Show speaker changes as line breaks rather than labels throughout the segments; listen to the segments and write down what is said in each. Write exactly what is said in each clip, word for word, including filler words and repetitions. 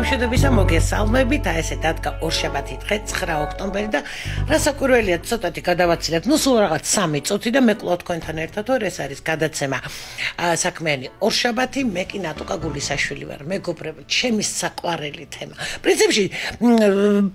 გამშვიდობისა მოგესალმებით, და ესე დადგა ორშაბათი დღე ცხრა ოქტომბერი და რასაკვირველია ცოტათი გადავაცილეთ, ნუ სულ რაღაც სამი წუთი და მე კლავ თქვენთან ერთად ვარ, ეს არის გადაცემა საქმიანი ორშაბათი, მე კი ნატუკა გულისაშვილი ვარ, მეგობრებო, ჩემი საყვარელი თემა. პრინციპში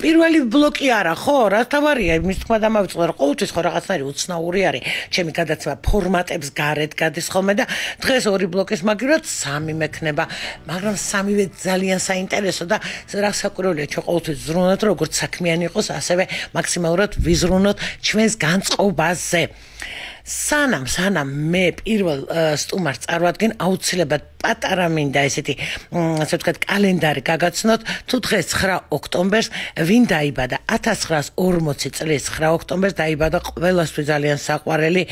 პირველი ბლოკი არა, ხო, რა თავარია, იმის თქმა დამავიწყდა, რომ ყოველთვის ხო რაღაცნაირი უცნაური არის, ჩემი გადაცემა ფორმატებს გარეთ გადის ხოლმე და დღეს ორი ბლოკის მაგივრად სამი მექნება, მაგრამ სამივე ძალიან საინტერესო და რასაკვირველია, ჩვენ ყოველთვის ზრუნავთ, როგორც საქმიანი იყოს, ასევე მაქსიმალურად ვიზრუნოთ ჩვენს განწყობაზე. სანამ სანამ მე პირველ სტუმარს წარვადგენ, აუცილებლად პატარა მინდა ესეთი, ასე ვთქვათ, კალენდარი გაგაცნოთ, თუ დღეს ცხრა ოქტომბერს ვინ დაიბადა? ათას ცხრაას ორმოცი წლის ცხრა ოქტომბერს დაიბადა ყველასთვის ძალიან საყვარელი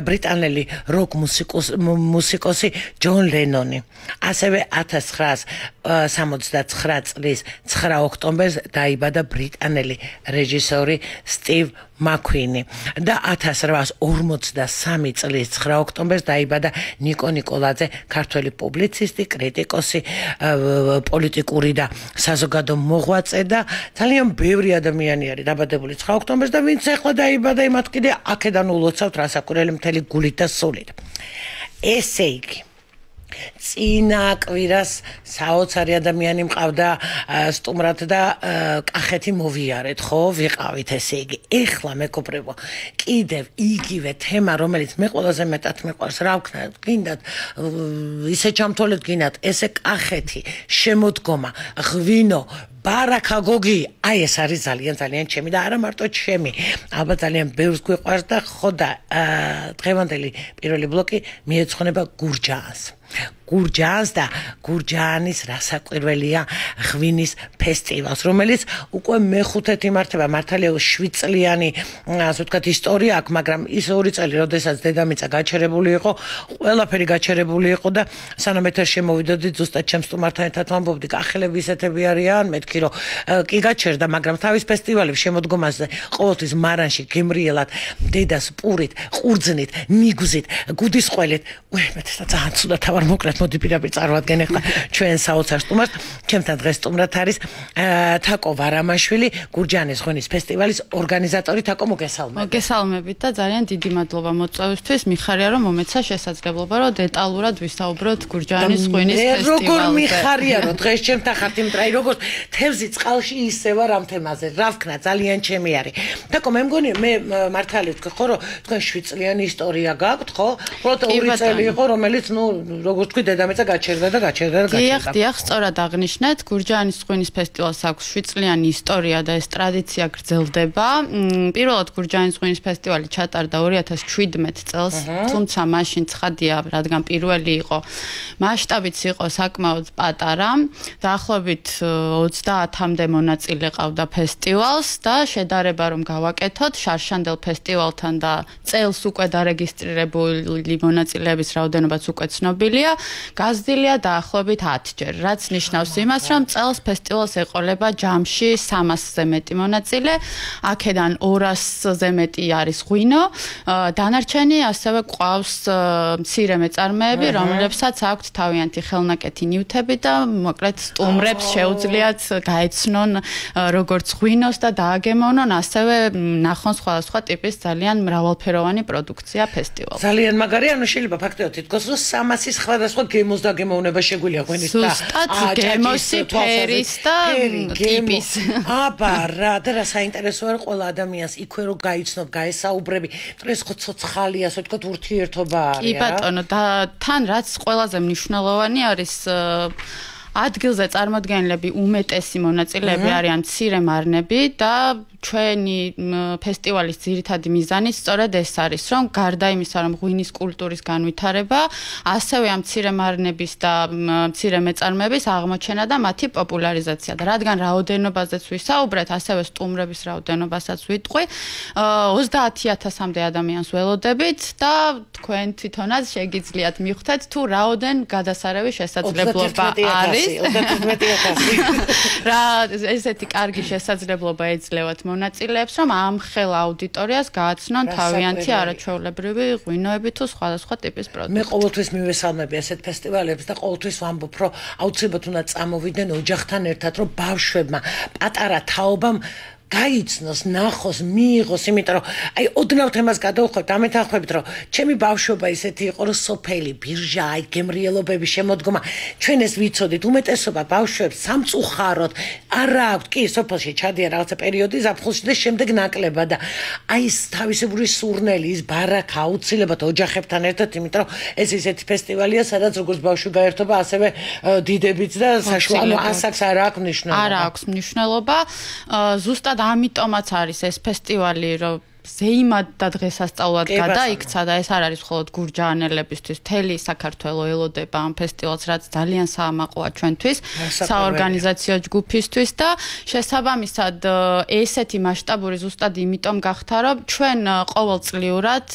ბრიტანელი როკ მუსიკოსი ჯონ ლენონი. ასევე ათას ცხრაას სამოცდაცხრა წლის ცხრა ოქტომბერს დაიბადა ბრიტანელი რეჟისორი სტივ მაკვინი და ათას რვაას ორმოცდასამი წლის ცხრა ოქტომბერს დაიბადა ნიკო ნიკოლაძე, ქართველი პუბლიცისტი, კრიტიკოსი, პოლიტიკური და საზოგადო მოღვაწე და ძალიან ბევრი ადამიანი არის დაბადებული ცხრა ოქტომბერს და ვინც ახლა დაიბადა, იმათ კიდე აქედან ულოცავთ რასაკვირველი მთელი გულით და სულით. ესე იგი, წინა კვირას საოცარი ადამიანი მყავდა სტუმრად და კახეთი მოვიარეთ, ხო, ვიყავით, ესე იგი. ეხლა მეგობრებო, კიდევ იგივე თემა, რომელიც მე ყველაზე მეტად მიყვარს, რა ვქნათ, გინდათ ისე ჩამთვალეთ, გინდათ ესე კახეთი, შემოდგომა, ღვინო, ბარაკა გოგი, აი ეს არის ძალიან ძალიან ჩემი და არა მარტო ჩემი, ალბათ ძალიან ბევრს გვიყვარს და ხო და დღევანდელი პირველი ბლოკი მიეძღვნება გურჯაანს. გურჯაანს და გურჯაანის რასაკვირველია ღვინის ფესტივალს, რომელიც უკვე მეხუთედ იმართება, მართალია შვიდ წლიანი, ასე ვთქვათ, ისტორია აქვს, მაგრამ ის ორი წელი, როდესაც დედამიწა გაჩერებული იყო, ყველაფერი გაჩერებული იყო და სანამ ეთერში შემოვიდოდი, ზუსტად ჩემს სტუმართან ერთად ვამბობდი, კახელები ისეთები არიან, მეთქი რომ კი გაჩერდა, მაგრამ თავის ფესტივალებს შემოდგომაზე ყოველთვის მარანში გემრიელად დედას პურით, ყურძნით, ნიგუზით, გუდისყველით, უემეთესა ძალიან ცუდად თავარ მოკლედ მოდი პირდაპირ წარვადგენ ახლა ჩვენ საოცარ სტუმარს. ჩემთან დღეს სტუმრად არის თაკო ვარამაშვილი, გურჯაანის ღვინის ფესტივალის ორგანიზატორი. თაკო, მოგესალმებით.
მოგესალმებით და ძალიან დიდი მადლობა მოწვევისთვის. მიხარია რომ მომეცა შესაძლებლობა რომ დეტალურად ვისაუბროთ გურჯაანის ღვინის ფესტივალზე.
როგორ მიხარია რომ დღეს ჩემთან ხართ, იმიტომ რომ როგორც თევზი წყალში ისე ვარ ამ თემაზე. რა ვქნა, ძალიან ჩემი არის. თაკო, მე მგონი მე მართალი ვთქვი, ხო, რომ თქვენ შვიდ წლიანი ისტორია გაქვთ, ხო? უბრალოდ ორი წელი იყო, რომელიც ნუ როგორც თქვი დედამიწა გაჩერდა და გაჩერდა და გაჩერდა.
დიახ, დიახ, სწორად აღნიშნეთ, გურჯაანის ღვინის ფესტივალს აქვს შვიდ წლიანი ისტორია და ეს ტრადიცია გრძელდება. პირველად გურჯაანის ღვინის ფესტივალი ჩატარდა ორი ათას შვიდმეტ წელს, თუმცა მაშინ ცხადია, რადგან პირველი იყო, მასშტაბიც იყო საკმაოდ პატარა. დაახლოებით ოცდაათამდე მონაწილე ყავდა ფესტივალს და შედარება რომ გავაკეთოთ შარშანდელ ფესტივალთან და წელს უკვე დარეგისტრირებული მონაწილეების რაოდენობაც უკვე ცნობილია. გაზრდილია დაახლოებით ათჯერ, რაც ნიშნავს იმას, რომ წელს ფესტივალს ეყოლება ჯამში სამასზე მეტი მონაწილე, აქედან ორასზე მეტი არის ღვინო, დანარჩენი ასევე ყავს მცირე მეწარმეები, რომლებსაც აქვთ თავიანთი ხელნაკეთი ნივთები და მოკლედ სტუმრებს შეუძლიათ გაეცნონ როგორც ღვინოს და დააგემოვნონ, ასევე ნახონ სხვადასხვა ტიპის ძალიან მრავალფეროვანი პროდუქცია ფესტივალზე.
ძალიან მაგარი, ანუ შეიძლება ფაქტობრივად თითქოს რომ სამასის სხვადასხვა გემოს და გემოვნება შეგვიძლია ღვინის და
ზუსტად გემოსი, ფერის და ტიპის.
აბა რა და რა საინტერესოა რომ ყველა ადამიანს იქვე რომ გაიცნობ, გაესაუბრები, ეს ხო ცოცხალი, ასე ვთქვათ, ურთიერთობა არის.
კი ბატონო, და თან რაც ყველაზე მნიშვნელოვანი არის, ადგილზე წარმოდგენილები უმეტესი მონაწილეები არიან მცირე მარნები და ჩვენი ფესტივალის ძირითადი მიზანი სწორედ ეს არის, რომ გარდა იმისა, რომ ღვინის კულტურის განვითარება, ასევე ამ მცირე მარნების და მცირე მეწარმეების აღმოჩენა და მათი პოპულარიზაცია. და რადგან რაოდენობაზეც ვისაუბრეთ, ასევე სტუმრების რაოდენობასაც ვიტყვი, ოცდაათი ათასამდე ადამიანს ველოდებით და თქვენ თვითონაც შეგიძლიათ მიხვდეთ, თუ რაოდენ გადასარევი შესაძლებლობა არის.
ოცდაათი ათასი.
რა ესეთი კარგი შესაძლებლობა ეძლევათ მონაწილეებს, რომ ამ ხელ აუდიტორიას გააცნონ თავიანთი არაჩვეულებრივი ღვინოები თუ სხვადასხვა ტიპის პროდუქტი.
მე ყოველთვის მივესალმები ასეთ ფესტივალებს და ყოველთვის ვამბობ, რომ აუცილებლად უნდა წამოვიდნენ ოჯახთან ერთად, რომ ბავშვებმა პატარა თაობამ გაიცნოს, ნახოს, მიიღოს, იმიტომ რომ აი ოდნავ თემას გადავხვევთ, ამეთანხმებით, რომ ჩემი ბავშვობა ისეთი იყო, რომ სოფელი, ბირჟა, აი გემრიელობების შემოდგომა, ჩვენ ეს ვიცოდით, უმეტესობა ბავშვებს სამწუხაროდ არა აქვთ, კი, სოფელში ჩადიან რაღაცა პერიოდი ზაფხულში და შემდეგ ნაკლებად და აი ეს თავისებური სურნელი, ის ბარაქა აუცილებლად ოჯახებთან ერთად, იმიტომ რომ ეს ისეთი ფესტივალია, სადაც როგორც ბავშვი გაერთობა, ასევე დიდებიც და საშუალო ასაკს არ აქვს მნიშვნელობა.
არ აქვს მნიშვნელობა. ზუსტად ამიტომაც არის ეს ფესტივალი, რომ ზეიმად და დღესასწაულად გადაიქცა და ეს არ არის მხოლოდ გურჯაანელებისთვის, მთელი საქართველო ელოდება ამ ფესტივალს, რაც ძალიან საამაყოა ჩვენთვის, საორგანიზაციო ჯგუფისთვის და შესაბამისად ესეთი მასშტაბური ზუსტად იმიტომ გახდა, რომ ჩვენ ყოველწლიურად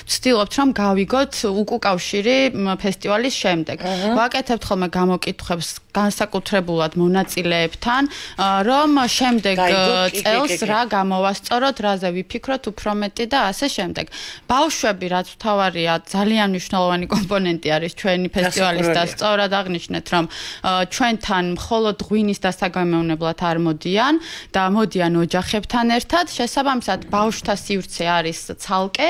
ვცდილობთ, რომ გავიგოთ უკუკავშირი ფესტივალის შემდეგ. ვაკეთებთ ხოლმე გამოკითხვებს განსაკუთრებულად მონაწილეებთან, რომ შემდეგ წელს რა გამოვასწოროთ, რაზე ვიფიქროთ უფრო მეტი და ასე შემდეგ. ბავშვები, რაც მთავარია, ძალიან მნიშვნელოვანი კომპონენტი არის ჩვენი ფესტივალის და სწორად აღნიშნეთ, რომ ჩვენთან მხოლოდ ღვინის დასაგემოვნებლად არ მოდიან და მოდიან ოჯახებთან ერთად. შესაბამისად, ბავშვთა სივრცე არის ცალკე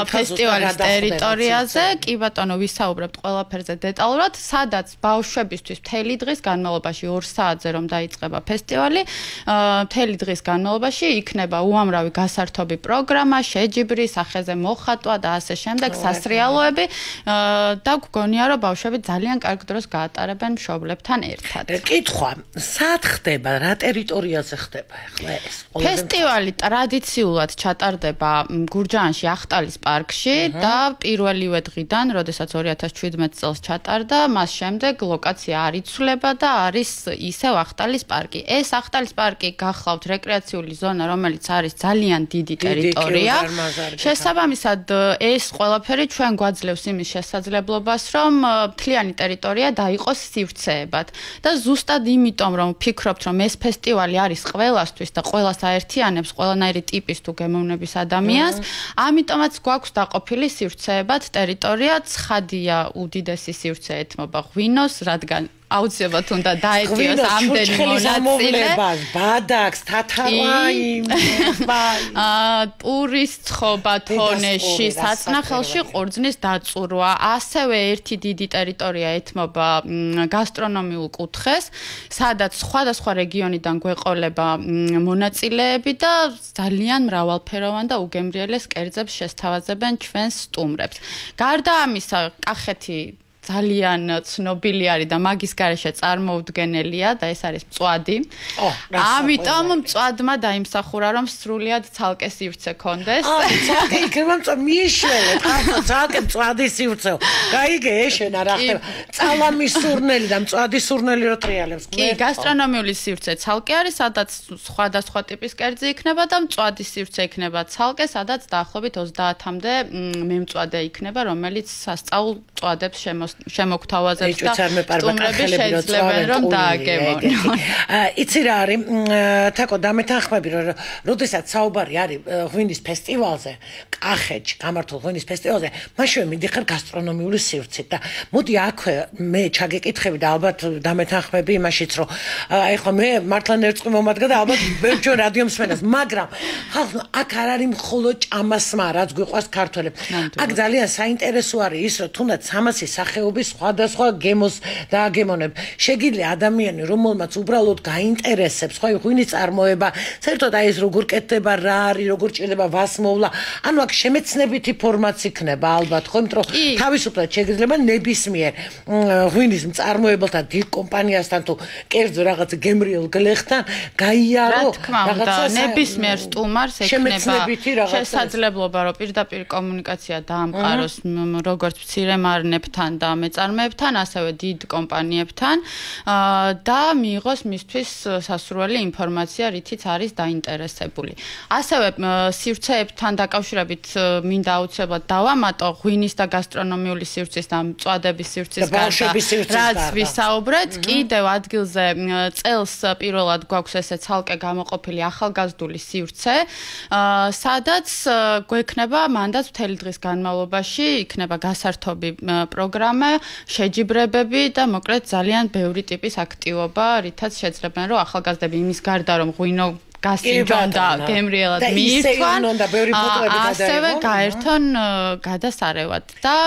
ფესტივალის ტერიტორიაზე. კი ბატონო, ვისაუბრებთ ყველაფერზე დეტალურად, სადაც ბავშვებისთვის მთელი დღის განმავლობაში ორ საათზე რომ დაიწყება ფესტივალი, მთელი დღის განმავლობაში იქნება უამრავი გასართობი პროგრამა, შეჯიბრი, სახეზე მოხატვა და ასე შემდეგ, სასრიალოები და გგონია, რომ ბავშვები ძალიან კარგ დროს გაატარებენ მშობლებთან ერთად.
კითხვა, სად ხდება, რა ტერიტორიაზე ხდება ახლა ეს?
ფესტივალი ტრადიციულად ჩატარდება გურჯაანში, ახტალის პარკში და პირველივე დღიდან, როდესაც ორი ათას ჩვიდმეტ წელს ჩატარდა, მას შემდეგ ლოკაცია არ იცვლება და არის ისევ ახტალის პარკი. ეს ახტალის პარკი გახლავთ რეკრეაციული ზონა, რომელიც არის ძალიან დიდი ტერიტორია. შესაბამისად, ეს ყველაფერი ჩვენ გვაძლევს იმის შესაძლებლობას, რომ მთლიანი ტერიტორია დაიყოს სივრცეებად. და ზუსტად იმიტომ, რომ ვფიქრობთ, რომ ეს ფესტივალი არის ყველასთვის და ყველას აერთიანებს ყველანაირი ტიპის თუ გემოვნების ადამიანს, ამიტომაც გვაქვს დაყოფილი სივრცეებად ტერიტორია. ცხადია, უდიდესი სივრცე ეთმობა ღვინოს, რადგან აუცილებლად უნდა დაეტიოს ამდენი მონაწილე.
ბადაკს, თათარაი,
პურის ცხობა თონეში, საწნახელში ყურძნის დაწურვა, ასევე ერთი დიდი ტერიტორია ეთმობა გასტრონომიულ კუთხეს, სადაც სხვადასხვა რეგიონიდან გვეყოლება მონაწილეები და ძალიან მრავალფეროვან და უგემრიელეს კერძებს შესთავაზებენ ჩვენს სტუმრებს. გარდა ამისა, კახეთი ძალიან ცნობილი არის და მაგის გარეშე წარმოუდგენელია და ეს არის მწვადი. ამიტომ მწვადმა დაიმსახურა, რომ სრულიად ცალკე სივრცე კონდეს.
აა, ცალკე იქნება მწვადი, მიშველეთ, ახლა ცალკე მწვადი სივრცე. გაიგე, ეშენა რა ხდება. წალამის სურნელი და მწვადის სურნელი რო ტრიალებს.
კი, გასტრონომიული სივრცე ცალკე არის, სადაც სხვადასხვა ტიპის კერძი იქნება და მწვადის სივრცე იქნება ცალკე, სადაც დაახლოებით ოცდაათამდე მემწვადე იქნება, რომელიც სასწაულ მწვადებს შემოს შემოგთავაზებს და სტუმრები შეძლებენ რომ დააგემონონ.
იცი რა არის, თაკო დამეთანხმები, რომ როდესაც საუბარი არის ღვინის ფესტივალზე, კახეთში გამართულ ღვინის ფესტივალზე, მაშინ მიდიხარ გასტრონომიული სივრცით და მოდი აქვე მე ჩაგეკითხები და ალბათ დამეთანხმები იმაშიც, რომ აი ხო მე მართლა ნერწყვი მომადგა და ალბათ ბევრჯერ რადიო მსმენელს, მაგრამ ხალხო აქ არ არის მხოლოდ ჭამასმა, რაც გვიყვარს ქართველებს. აქ ძალიან საინტერესო არის ის, რომ თუნდაც სამასი სახეობის სხვადასხვა გემოს დააგემონებ. შეგიძლია ადამიანი, რომელმაც უბრალოდ გაინტერესებს, ხო, ღვინის წარმოება, საერთოდ აი ეს როგორ კეთდება, რა არის, როგორ ჭირდება ვასმოვლა. ანუ აქ შემეცნებითი ფორმაც იქნება ალბათ, ხო, იმიტომ რომ თავისუფლად შეგიძლია ნებისმიერ ღვინის მწარმოებელთან, დიდ კომპანიასთან თუ კერძო რაღაც გემრიელ გლეხთან გაიარო
რაღაცა ნებისმიერ სტუმარს ექნება შესაძლებლობა, რომ პირდაპირ კომუნიკაცია დაამყაროს როგორც მცირე მარნებთან და და მეწარმეებთან, ასევე დიდ კომპანიებთან და მიიღოს მისთვის სასურველი ინფორმაცია, რითიც არის დაინტერესებული. ასევე სივრცეებთან დაკავშირებით მინდა აუცილებლად დავამატო ღვინის და გასტრონომიული სივრცის და მწვადების სივრცის გარდა, რაც ვისაუბრეთ, კიდევ ადგილზე წელს პირველად გვაქვს ესე ცალკე გამოყოფილი ახალგაზრდული სივრცე, სადაც გვექნება მანდაც მთელი დღის განმავლობაში იქნება გასართობი პროგრამა, შეჯიბრებები და მოკლედ ძალიან ბევრი ტიპის აქტივობა, რითაც შეძლებენ რომ ახალგაზრდები იმის გარდა რომ ღვინო გასინჯონ და გემრიელად მიირთვან, ასევე გაერთონ გადასარევად და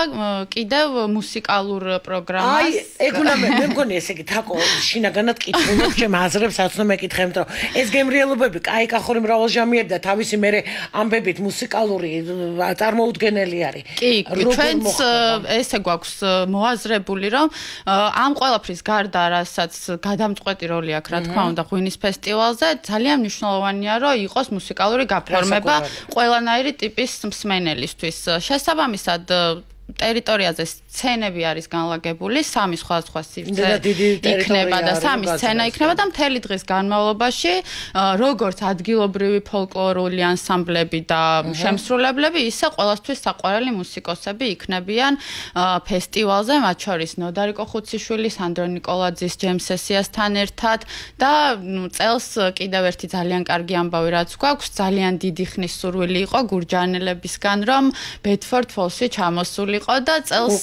კიდევ მუსიკალურ პროგრამას.
აი, ეგ უნდა მე მგონი ესე იგი თაკო შინაგანად კითხულობ ჩემ აზრებს, რაც უნდა მეკითხე, იმიტომ რომ ეს გემრიელობები კაი კახური მრავალჟამიერი და თავისი მერე ამბებით მუსიკალური წარმოუდგენელი არის.
კი, ჩვენც ესე გვაქვს მოაზრებული, რომ ამ ყველაფრის გარდა, რასაც გადამწყვეტი როლი აქვს, რა თქმა უნდა, ღვინის ფესტივალზე, ძალიან მნიშვნელოვანია, რომ იყოს მუსიკალური გაფორმება ყველანაირი ტიპის მსმენელისთვის. შესაბამისად, ტერიტორიაზე სცენები არის განლაგებული, სამი სხვადასხვა სივრცე იქნება და სამი სცენა იქნება და მთელი დღის განმავლობაში, როგორც ადგილობრივი ფოლკლორული ანსამბლები და შემსრულებლები, ისე ყველასთვის საყვარელი მუსიკოსები იქნებიან ფესტივალზე, მათ შორის ნოდარი კოხუციშვილი, სანდრო ნიკოლაძის ჯემ სესიასთან ერთად და წელს კიდევ ერთი ძალიან კარგი ამბავი რაც გვაქვს, ძალიან დიდი ხნის სურვილი იყო გურჯაანელებისგან, რომ ბედფორდ ფოლსი ჩამოსული და წელს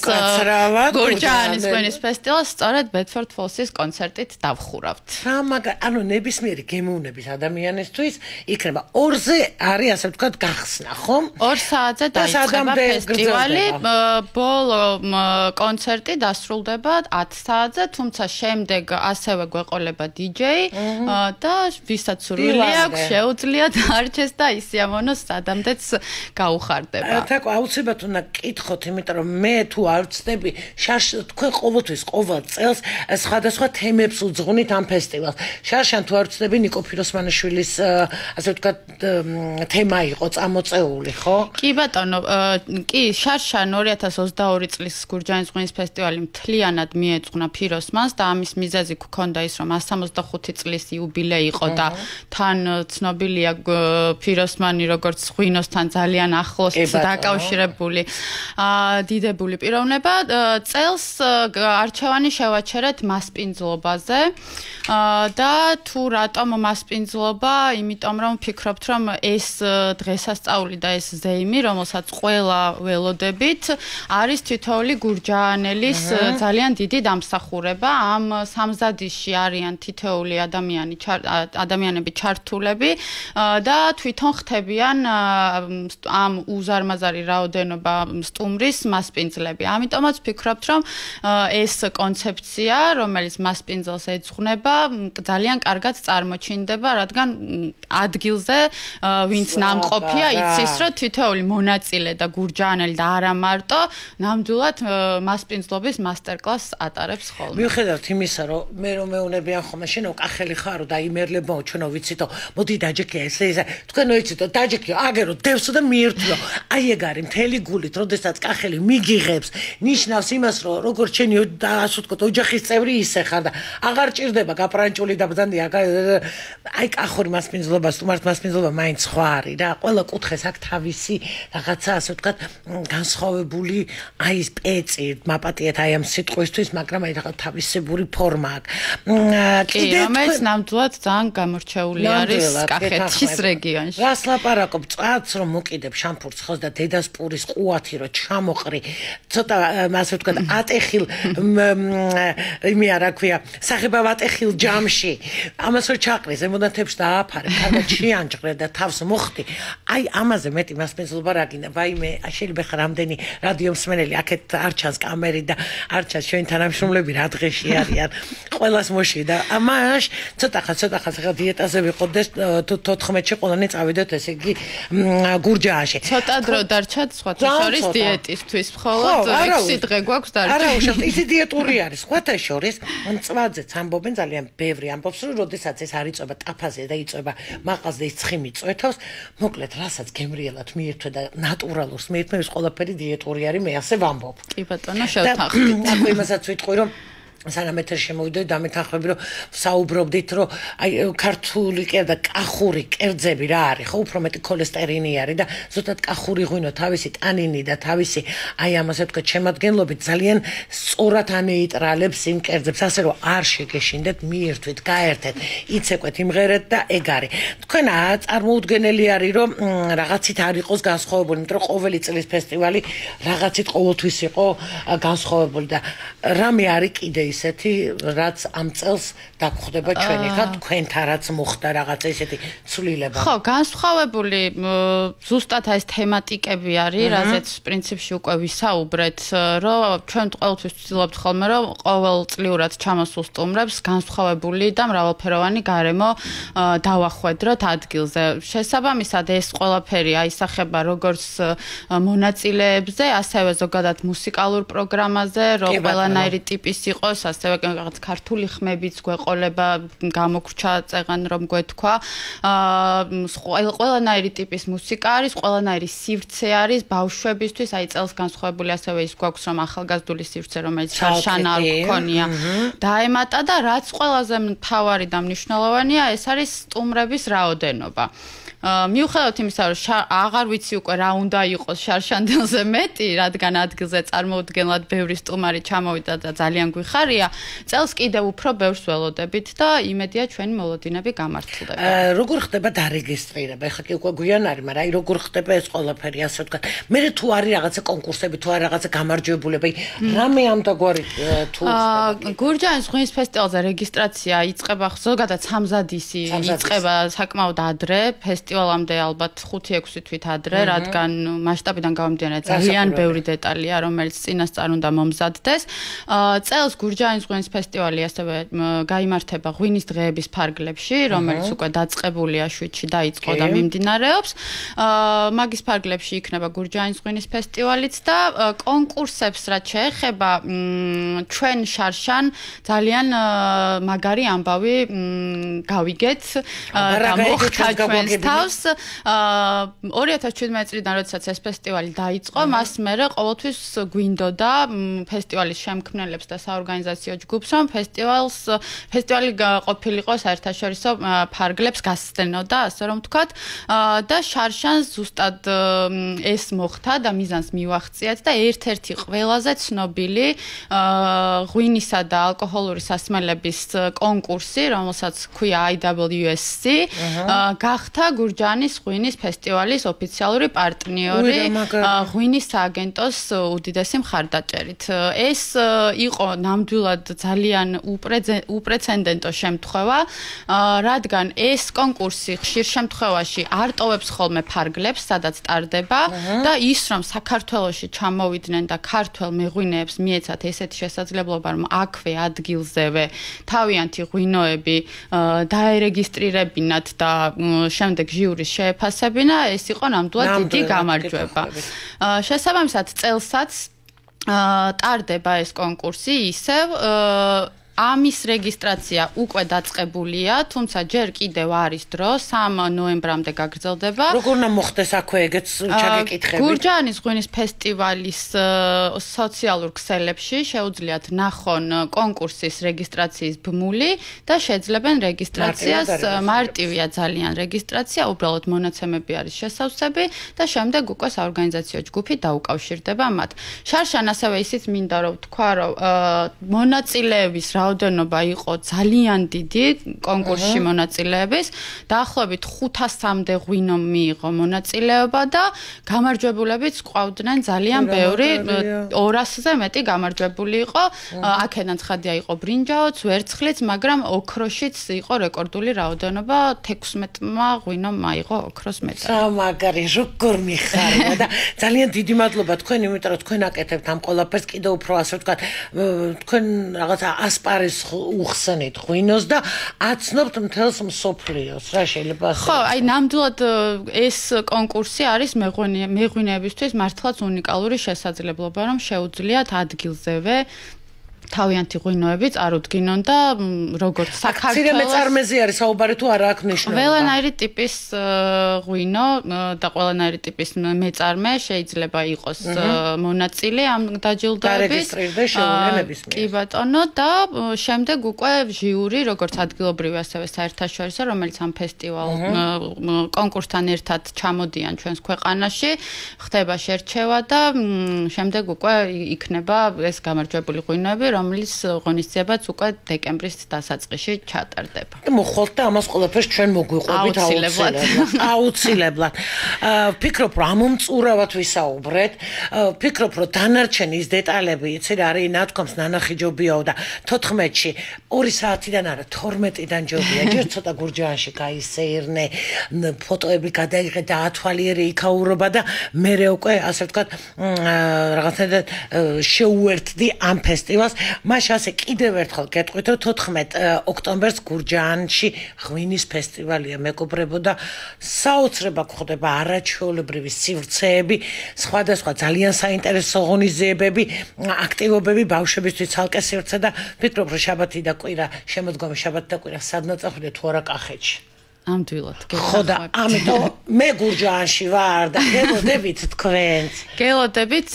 გურჯაანის ღვინის ფესტივალს სწორედ ბედფორდ ფოლსის კონცერტით დავხურავთ.
რა მაგარ, ანუ ნებისმიერი გემოვნების ადამიანისთვის იქნება ორზე არის ასე ვთქვათ გახსნა, ხომ?
ორ საათზე დაიწყება ფესტივალი, ბოლო კონცერტი დასრულდება ათ საათზე, თუმცა შემდეგ ასევე გვეყოლება დი-ჯეი და ვისაც სურვილი აქვს, შეუძლია დარჩეს და ისიამოვნოს სადამდეც გაუხარდება.
თაკო აუცილებლად უნდა კითხოთ, იმიტომ რომ მე თუ არ ვწდები, თქვენ ყოველთვის ყოველ წელს სხვადასხვა თემებს უძღვნით ამ ფესტივალს. შარშან თუ არ ვწდები, ნიკო ფიროსმანიშვილის ასე ვთქვათ თემა იყო წამოწეული, ხო?
კი ბატონო, კი, შარშან ორი ათას ოცდაორი წლის გურჯაანის ღვინის ფესტივალი მთლიანად მიეძღვნა ფიროსმანს და ამის მიზეზი გქონდა ის, რომ სამოცდახუთი წლის იუბილეი იყო და თან ცნობილია ფიროსმანი როგორც ღვინოსთან ძალიან ახლოს დაკავშირებული დიდებული პიროვნება. წელს არჩევანი შევაჩერეთ მასპინძლობაზე და თუ რატომ მასპინძლობა, იმიტომ რომ ვფიქრობთ, რომ ეს დღესასწაული და ეს ზეიმი, რომელსაც ყველა ველოდებით, არის თითოეული გურჯაანელის ძალიან დიდი დამსახურება. ამ სამზადისში არიან თითოეული ადამიანი, ადამიანები ჩართულები და თვითონ ხდებიან ამ უზარმაზარი რაოდენობა სტუმრის მასპინძლები. ამიტომაც ვფიქრობთ, რომ ეს კონცეფცია, რომელიც მასპინძელს ეძღვნება, ძალიან კარგად წარმოჩინდება, რადგან ადგილზე ვინც ნამყოფია, იცის, რომ თითოეული მონაწილე და გურჯაანელი და არა მარტო ნამდვილად მასპინძლობის მასტერკლასს ატარებს ხოლმე.
მიუხედავად იმისა, რომ მე რომ მეუნებიან ხოლმე, შენო კახელი ხარო და იმერლებო, ჩვენო ვიცითო, მოდი დაჯექია ესე ესე. თქვენო იცითო, დაჯექიო, აგერო, დევსო და მიერთვიო. აი ეგ არის მთელი გულით, როდესაც კახელი მიგიღებს, ნიშნავს იმას, რომ როგორც შენი ასე ვთქვათ, ოჯახის წევრი ისე ხარ და აღარ ჭირდება გაპრანჭული და ბრძანდი, აი კახური მასპინძლობა, სტუმართ მასპინძლობა მაინც სხვა არის რა. ყველა კუთხეს აქვს თავისი რაღაცა ასე ვთქვათ, განსხვავებული აი ეს პეცი, მაპატიეთ აი ამ სიტყვისთვის, მაგრამ აი რაღაც თავისებური ფორმა აქვს.
კიდე რომელიც ნამდვილად ძალიან გამორჩეული არის კახეთის რეგიონში.
რას ლაპარაკობ, წვაც რომ მოკიდებ შამფურს ხოს და დედას პურის ყუათი რომ ჩამოყრი, ცოტა ასე ვთქვათ, ატეხილ იმი არა ქვია, სახება ვატეხილ ჯამში. ამას რო ჩაყრი, ზემოდან თებს დააფარე, კარგად შეანჭყრე და თავს მოხდი. აი ამაზე მეტი მასპინძლობა რა გინდა? ვაიმე, შეიძლება ხარ რამდენი რადიო მსმენელი აქეთ არ ჩანს კამერი და არ ჩანს ჩვენ თანამშრომლები რა დღეში არიან. ყველას მოში და ამაშ ცოტა ხა ცოტა ხა ხა დიეტაზე ვიყოდეს თოთხმეტში ყველანი წავიდეთ ესე იგი გურჯაანში.
ცოტა დრო დარჩათ სხვათა შორის დიეტისთვის მხოლოდ ექვსი დღე გვაქვს დარჩა.
არა, უშავთ, ისი დიეტური არის. სხვათა შორის, მწვაძეც ამბობენ ძალიან ბევრი ამბობს, რომ როდესაც ეს არ იწובה ტაფაზე და იწובה მაღაზზე ის ცხიმი წვეთავს, მოკლედ, რასაც გემრიელად მიირთვე და ნატურალურს მიირთმე, ეს ყველაფერი დიეტური არის, მე ასე ვამბობ.
კი ბატონო, შევთანხმდით.
აქ იმასაც ვიტყვი, რომ სანამ ეთერში შემოვიდოდი დამეთანხმები რომ საუბრობდით რომ აი ქართული კერძა კახური კერძები რა არის ხო უფრო მეტი ქოლესტერინი არის და ზუსტად კახური ღვინო თავისი ტანინი და თავისი აი ამაზე თქვა შემადგენლობით ძალიან სწორად ანეიტრალებს იმ კერძებს ასე რომ არ შეგეშინდეთ მიირთვით გაერთეთ იცეკვეთ იმღერეთ და ეგ არის თქვენ წარმოუდგენელი არის რომ რაღაცით არ იყოს განსხვავებული იმიტომ რომ ყოველი წლის ფესტივალი რაღაცით ყოველთვის იყო განსხვავებული და რამე არის კიდე ისეთი რაც ამ წელს დაგხვდება ჩვენი ხა თქვენთან რაც მოხდა რაღაცა ისეთი ცვლილება
ხო განსხვავებული ზუსტად ეს თემატიკები არის რაზეც პრინციპში უკვე ვისაუბრეთ რომ ჩვენ ყოველთვის ვცდილობთ ხოლმე რომ ყოველწლიურად ჩამოსულ სტუმრებს განსხვავებული და მრავალფეროვანი გარემო დავახვედროთ ადგილზე შესაბამისად ეს ყველაფერი აისახება როგორც მონაწილეებზე ასევე ზოგადად მუსიკალურ პროგრამაზე რომ ყველანაირი ტიპის იყოს ასევე რაღაც ქართული ხმებიც გვეყოლება გამოგრჩა წეღან რომ გვეთქვა აა ყველანაირი ტიპის მუსიკა არის ყველანაირი სივრცე არის ბავშვებისთვის აი წელს განსხვავებული ასევე ის გვაქვს რომ ახალგაზრდული სივრცე რომელიც შარშან არ გქონია დაემატა და რაც ყველაზე მთავარი და მნიშვნელოვანია ეს არის სტუმრების რაოდენობა მიუხედავად იმისა რომ აღარ ვიცი უკვე რა უნდა იყოს შარშანდელზე მეტი რადგან ადგილზე წარმოუდგენლად ბევრი სტუმარი ჩამოვიდა და ძალიან გვიხარია წელს კიდევ უფრო ბევრს ველოდებით და იმედია ჩვენი მოლოდინები გამართლდება
როგორ ხდება დარეგისტრირება ეხლა კი უკვე გვიან არის მაგრამ აი როგორ ხდება ეს ყველაფერი ასე ვთქვათ მე თუ არის რაღაცა კონკურსები თუ არის რაღაცა გამარჯვებულები რამე ამ დაგვარი თუ
გურჯაანის ღვინის ფესტივალზე რეგისტრაცია იწყება ზოგადად სამზადისი იწყება საკმაოდ ადრე ფესტივალამდე ალბათ ხუთი ექვსი თვით ადრე, რადგან მასშტაბიდან გამომდინარე ძალიან ბევრი დეტალია, რომელიც წინასწარ უნდა მომზადდეს. წელს გურჯაანის ღვინის ფესტივალი ასევე გაიმართება ღვინის დღეების ფარგლებში, რომელიც უკვე დაწყებულია შვიდში დაიწყო და მიმდინარეობს. მაგის ფარგლებში იქნება გურჯაანის ღვინის ფესტივალიც და კონკურსებს რაც შეეხება ჩვენ შარშან ძალიან მაგარი ამბავი გავიგეთ და მოხდა ჩვენს თავს ორი ათას შვიდმეტი წლიდან როდესაც ეს ფესტივალი დაიწყო მას მერე ყოველთვის გვინდოდა ფესტივალის შემქმნელებს და საორგანიზაციო ჯგუფს რომ ფესტივალს ფესტივალი ყოფილიყო საერთაშორისო ფარგლებს გასცდენოდა ასე რომ ვთქვათ და შარშანს ზუსტად ეს მოხდა და მიზანს მივახციეთ და ერთ-ერთი ყველაზე ცნობილი ღვინისა და ალკოჰოლური სასმელების კონკურსი რომელსაც ქვია I W S C გახდა გურჯაანის ღვინის ფესტივალის ოფიციალური პარტნიორი ღვინის სააგენტოს უდიდესი მხარდაჭერით. ეს იყო ნამდვილად ძალიან უპრეცედენტო შემთხვევა, რადგან ეს კონკურსი ხშირ შემთხვევაში არ ტოვებს ხოლმე ფარგლებს, სადაც ტარდება და ის რომ საქართველოში ჩამოვიდნენ და ქართველ მეღვინეებს მიეცათ ესეთი შესაძლებლობა რომ აქვე ადგილზევე თავიანთი ღვინოები დაერეგისტრირებინათ და შემდეგ ჟიურის შეეფასებინა, ეს იყო ნამდვილად დიდი გამარჯვება. შესაბამისად, წელსაც ტარდება ეს კონკურსი ისევ ამის რეგისტრაცია უკვე დაწყებულია, თუმცა ჯერ კიდევ არის დრო, სამ ნოემბრამდე გაგრძელდება.
როგორ უნდა მოხდეს აქვე ეგეც ჩაგეკითხები?
გურჯაანის ღვინის ფესტივალის სოციალურ ქსელებში შეუძლიათ ნახონ კონკურსის რეგისტრაციის ბმული და შეძლებენ რეგისტრაციას. მარტივია ძალიან რეგისტრაცია, უბრალოდ მონაცემები არის შესავსები და შემდეგ უკვე საორგანიზაციო ჯგუფი დაუკავშირდება მათ. შარშან ასევე ისიც მინდა რომ ვთქვა, რომ მონაწილეების რაოდენობა იყო ძალიან დიდი კონკურსში მონაწილეების, დაახლოებით ხუთასამდე ღვინო მიიღო მონაწილეობა და გამარჯვებულებიც ყავდნენ ძალიან ბევრი, ორასზე მეტი გამარჯვებული იყო. აქედან ცხადია იყო ბრინჯაოც, ვერცხლიც, მაგრამ ოქროშიც იყო რეკორდული რაოდენობა, თექვსმეტმა ღვინომ აიღო ოქროს მედალი.
მაგარი, როგორ მიხარია და ძალიან დიდი მადლობა თქვენ, იმიტომ რომ თქვენ აკეთებთ ამ ყველაფერს კიდევ უფრო ასე ვთქვათ, თქვენ რაღაცა ასპარეზ არის უხსენით ღვინოს და აცნობთ მთელს მსოფლიოს. რა შეიძლება ასე?
ხო, აი ნამდვილად ეს კონკურსი არის მეღვინეებისთვის მართლაც უნიკალური შესაძლებლობა, რომ შეუძლიათ ადგილზევე თავიანთი ღვინოები წარუდგინონ და როგორც საქართველოს
აქცირე მეწარმეზე არის საუბარი თუ არა აქვს ნიშნულობა.
ყველანაირი ტიპის ღვინო და ყველანაირი ტიპის მეწარმე შეიძლება იყოს მონაწილე ამ დაჯილდოების კი ბატონო და შემდეგ უკვე ჟიური როგორც ადგილობრივი ასევე საერთაშორისო რომელიც ამ ფესტივალ კონკურსთან ერთად ჩამოდიან ჩვენს ქვეყანაში ხდება შერჩევა და შემდეგ უკვე იქნება ეს გამარჯვებული ღვინოები რომლის ღონისძიებაც უკვე დეკემბრის დასაწყისში ჩატარდება.
და მოხვალთ და ამას ყველაფერს ჩვენ მოგვიყვებით
აუცილებლად.
აუცილებლად. ფიქრობ რომ ამომწურავად ვისაუბრეთ, ფიქრობ რომ დანარჩენი ის დეტალები, იცი რა არის ნათქვამს ნანახი ჯობიაო და თოთხმეტში ორი საათიდან არა თორმეტიდან ჯობია. ჯერ ცოტა გურჯაანში გაისეირნე, ფოტოები გადაიღე და ათვალიერე იქაურობა და მერე უკვე ასე ვთქვათ რაღაცნაირად შეუერთდი ამ ფესტივალს. მაშ ასე კიდევ ერთხელ გეტყვით რომ თოთხმეტ ოქტომბერს გურჯაანში ღვინის ფესტივალია მეგობრებო და საოცრება გვხდება არაჩვეულებრივი სივრცეები, სხვადასხვა ძალიან საინტერესო ღონისძიებები, აქტივობები ბავშვებისთვის ცალკე სივრცე და ფიქრობ რომ შაბათი და კვირა შემოდგომი შაბათი და კვირა სადღაც წახვიდე თუ არა კახეთში.
ამდვილად.
ხო და ამიტომ მე გურჯაანში ვარ და გელოდებით თქვენს.
გელოდებით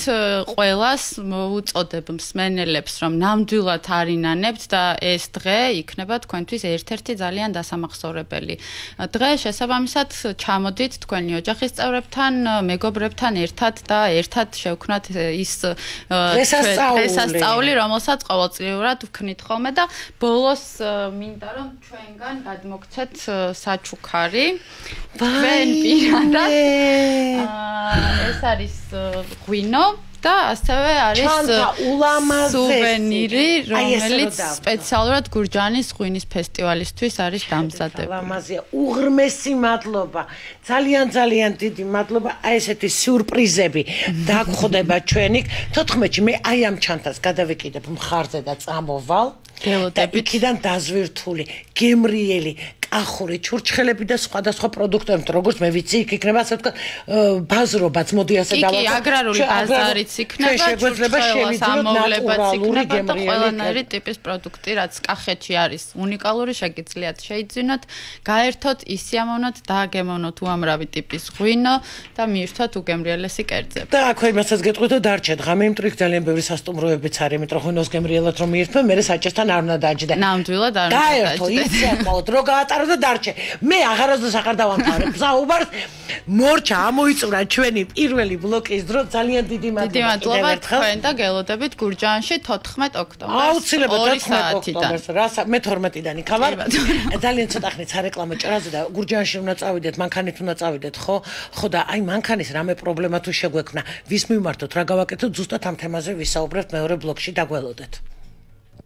ყველას მოუწოდებ მსმენელებს რომ ნამდვილად არინანებთ და ეს დღე იქნება თქვენთვის ერთ-ერთი ძალიან დასამახსოვრებელი დღე. შესაბამისად ჩამოდით თქვენი ოჯახის წევრებთან, მეგობრებთან ერთად და ერთად შევქმნათ ის დღესასწაული, რომელსაც ყოველწლიურად ვქნით ხოლმე და ბოლოს მინდა რომ ჩვენგან გადმოგცეთ ჩუქარი ვენ პირადად ეს არის ღვინო და ასევე არის სუვენირი რომელიც სპეციალურად გურჯაანის ღვინის ფესტივალისთვის არის დამზადებული.
ლამაზია, უღრმესი მადლობა. ძალიან ძალიან დიდი მადლობა. აი ესეთი სიურპრიზები დაგხვდება ჩვენი. თოთხმეტში მე აი ამ ჩანთას გადავიკიდებ მხარზე და წამოვალ. და იქიდან დაზვირთული, გემრიელი, კახური, ჩურჩხელები და სხვადასხვა პროდუქტები, როგორც მე ვიცი, იქ იქნება ასე ვთქვათ, ბაზრობაც, მოდი ასე დავაწყო.
კი, აგრარული ბაზარიც იქნება, ჩურჩხელას ამოვლებაც იქნება და ყველანაირი ტიპის პროდუქტი, რაც კახეთში არის უნიკალური, შეგიძლიათ შეიძინოთ, გაერთოთ, ისიამოვნოთ, დააგემოვნოთ უამრავი ტიპის ღვინო და მიირთვათ უგემრიელესი კერძები.
და აქვე იმასაც გეტყვით, რომ დარჩეთ ღამე იმ ტრიქ ძალიან ბევრი სასტუმროებიც არის, იმიტომ რომ ღვინოს გემრიელად რომ მიირთმე, მე საჭესთან არ უნდა დაჯდე.
ნამდვილად არ უნდა დაჯდე.
გაერთო, ისიამოვნოთ, რო გაატარო და დარჩე. მე აღარასდროს აღარ დავამთავრებ საუბარს. მორჩა ამოიწურა ჩვენი პირველი ბლოკის დრო ძალიან დიდი მადლობა.
დიდი მადლობა თქვენ და გელოდებით გურჯაანში თოთხმეტ ოქტომბერს.
აუცილებლად თოთხმეტ ოქტომბერს. რას მე თორმეტიდან იქავარ. ძალიან ცოტა ხნით სარეკლამო ჭრაზე და გურჯაანში უნდა წავიდეთ, მანქანით უნდა წავიდეთ, ხო? ხო და აი მანქანის რამე პრობლემა თუ შეგვექმნა, ვის მიმართოთ, რა გავაკეთოთ, ზუსტად ამ თემაზე ვისაუბრებთ მეორე ბლოკში, დაგველოდეთ.